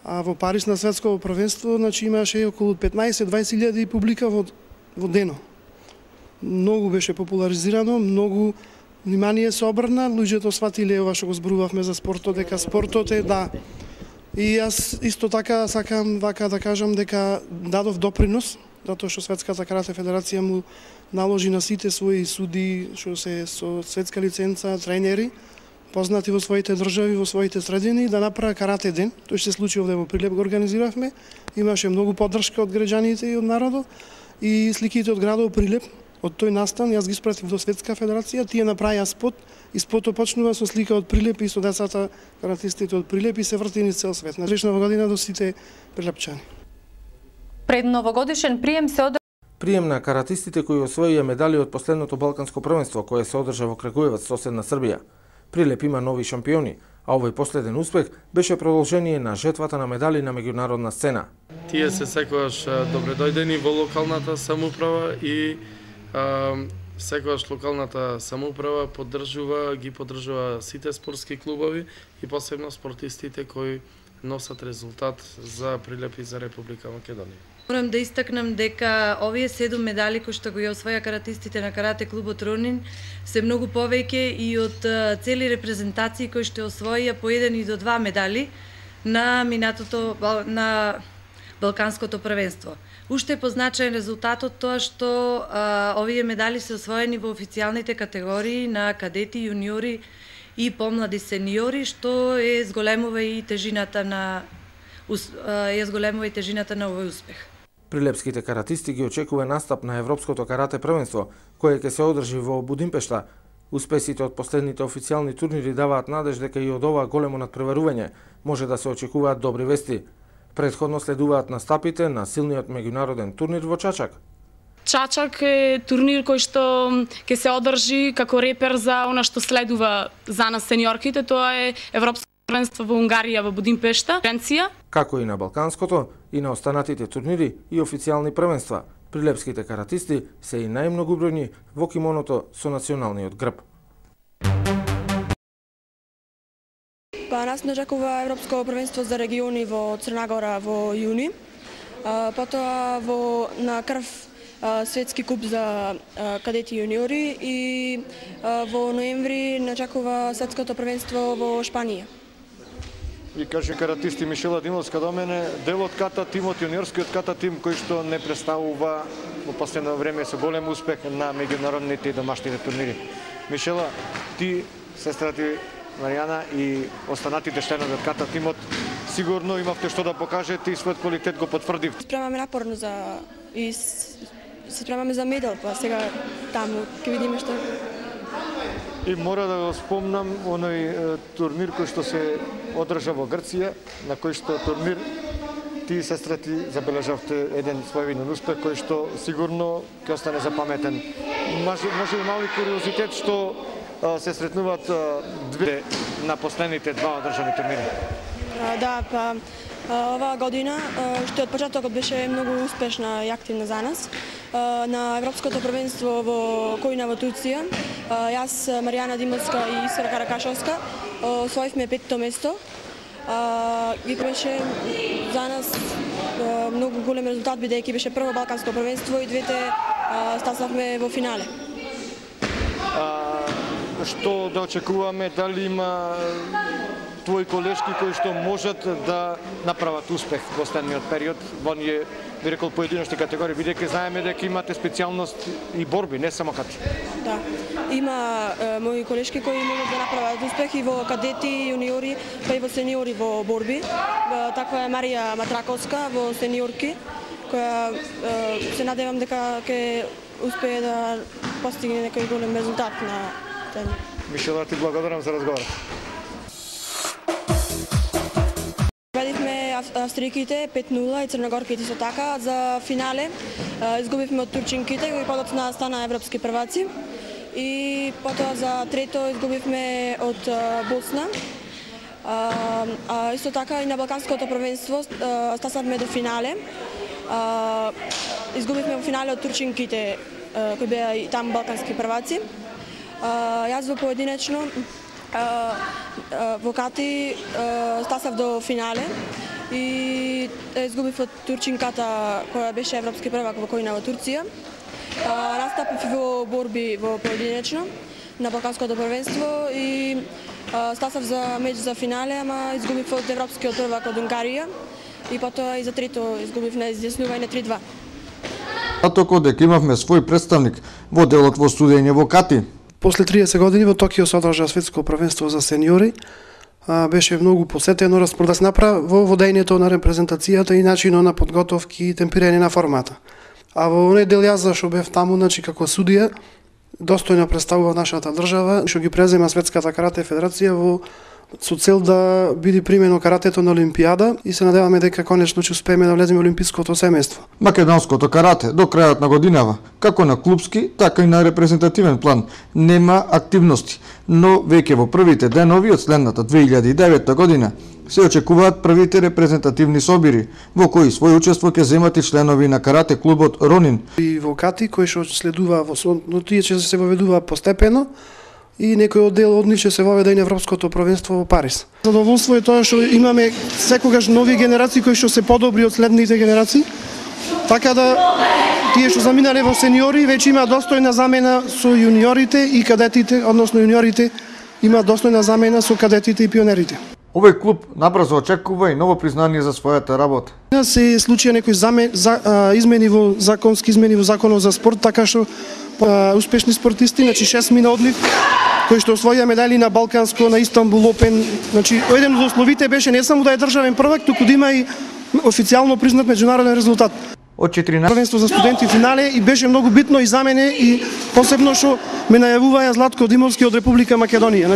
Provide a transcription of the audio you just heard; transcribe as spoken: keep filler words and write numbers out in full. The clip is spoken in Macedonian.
А во Париз на светско првенство, значи имаше околу петнаесет до дваесет илјади публика во во дено. Многу беше популаризирано, многу внимание се обрна, луѓето сватиле ова што го зборувавме за спортот, дека спортот е да. И јас исто така сакам вака да кажам дека дадов допринос, затоа што Светската карате федерација му наложи на сите своји суди што се со светска лиценца, тренери, познати во своите држави, во своите средини, да направи карате ден. Тој се случи овде во Прилеп, го организиравме. Имаше многу поддршка од граѓаните и од народот и сликите од градот Прилеп. Од тој настан јас ги испратив до Светска федерација, тие направија спот и спотот почнува со слика од Прилеп и со децата каратистите од Прилеп и се врти низ цел свет. Среќна година до сите прилепчани. Пред новогодишен прием се одржа Прием на каратистите кои освоија медали од последното балканско првенство кое се одржа во Крагуевац, соседна Србија. Прилеп има нови шампиони, а овој последен успех беше продолжение на жетвата на медали на меѓународна сцена. Тие се секогаш добредојдени во локалната самоуправа и а, секогаш локалната самоуправа поддржува, ги поддржува сите спортски клубови и посебно спортистите кои носат резултат за Прилеп и за Република Македонија. Морам да истакнам дека овие седум медали кои што го освоја каратистите на карате клубот Ронин се многу повеќе и од цели репрезентации кои што освоија по еден и до два медали на минатото на Балканското првенство. Уште е позначаен резултатот тоа што а, овие медали се освоени во официјалните категории на кадети, јуниори и помлади сениори, што е зголемува и тежината на е зголемува и тежината на овој успех. Прилепските каратисти ги очекува настап на Европското карате првенство, кое ќе се одржи во Будимпешта. Успесите од последните официјални турнири даваат надеж дека и од ова големо надпреварување може да се очекуваат добри вести. Претходно следуваат настапите на силниот меѓународен турнир во Чачак. Чачак е турнир кој што ќе се одржи како репер за она што следува за нас сениорките, тоа е Европско првенство во Унгарија во Будимпешта, Франција. Како и на Балканското, и на останатите турнири и официјални првенства, прилепските каратисти се и најмногубројни во кимоното со националниот грб. Па нас не очекува Европско првенство за региони во Црна Гора во јуни. Потоа во на крв светски куп за кадети и јуниори и во ноември не очекува светското првенство во Шпанија. И каже каратисти Мишела Димовска до мене, дел од ката тимот, јуниорскиот ката тим кој што не представува во последно време со голем успех на меѓународните и домашните турнири. Мишела, ти, сестра ти Маријана и останатите членови од ката тимот сигурно имавте што да покажете и својот квалитет го потврдив. Спремаме напорно за и се спремаме за медал, па сега таму ќе видиме што. И мора да го спомнам оној турнир кој што се одржа во Грција, на кој што турнир ти, сестра ти, забележавте еден своевиден успех кој што сигурно ќе остане запаметен. Може, може и мали куриозитет што а, се сретнуваат а, две на последните два одржани турнири. А, да, па оваа година, што од почетокот беше многу успешна и активна за нас. На Европското првенство во Којна во Турција, јас, Маријана Димовска и Искра Каракашовска освоивме петто место. И беше за нас многу голем резултат, бидејќи беше прво Балканско првенство и двете стасавме во финале. А, што да очекуваме, дали има твои колешки кои што можат да направат успех во следниот период во ние, би рекол, поединочни категории, бидејќи знаеме дека имате специјалност и борби, не само кати. Да, има е, мои колешки кои можат да направат успех и во кадети, јуниори, па и во сениори во борби. Таква е Марија Матраковска во сениорки, која е, се надевам дека ќе успее да постигне некој голем резултат на тен. Мишела, ти благодарам за разговорот. Победивме австријките пет нула и црногорките со така. За финале изгубивме од турчинките, кои подоцна стана европски прваци. И потоа за трето изгубивме од Босна. А, а, исто така и на Балканското првенство стасавме до финале. А, изгубивме во финале од турчинките, кои беа и там балкански прваци. А, јас во поединечно во кати стасав до финале и изгубив од турчинката која беше европски првак во Којна во Турција. Настапив во борби во поединечно на Балканското првенство и стасав за меч за финале, ама изгубив од европскиот првак од Унгарија и потоа и за трето изгубив на изјаснување три-два. Атоко дека имавме свој представник во делот во судење во Кати. После триесет години во Токио се одржа светско првенство за сениори. Беше многу посетено, распродас направа во водењето на репрезентацијата и начинот на подготовки и темпирање на формата. А во оној дел јас зашо бев таму, значи како судија, достојно представува нашата држава, што ги презема Светската карате федерација во со цел да биде примено каратето на Олимпијада и се надеваме дека конечно ќе успееме да влеземе во олимпиското семејство. Македонското карате до крајот на годинава, како на клупски, така и на репрезентативен план, нема активности, но веќе во првите денови од следната две илјади и девета година се очекуваат првите репрезентативни собири, во кои свој учество ќе земат и членови на карате клубот Ронин. И во Кати, кој што следува во но тие ќе се воведува постепено, и некој оддел од нив ќе се воведе и на Европското првенство во Париз. Задоволство е тоа што имаме секогаш нови генерации кои што се подобри од следните генерации, така да тие што заминале во сениори веќе има достојна замена со јуниорите и кадетите, односно јуниорите има достојна замена со кадетите и пионерите. Овој клуб набрзо очекува и ново признание за својата работа. Се случија некои замен, за, а, измени во законски измени во законот за спорт, така што а, успешни спортисти, значи шест мина одлив, кои што освоија медали на Балканско, на Истанбул Опен, значи еден од условите беше не само да е државен првак, туку да има и официјално признат меѓународен резултат. Од четиринаесет првенство за студенти финале и беше многу битно и за мене и посебно што ме најавуваја Златко Димовски од Република Македонија.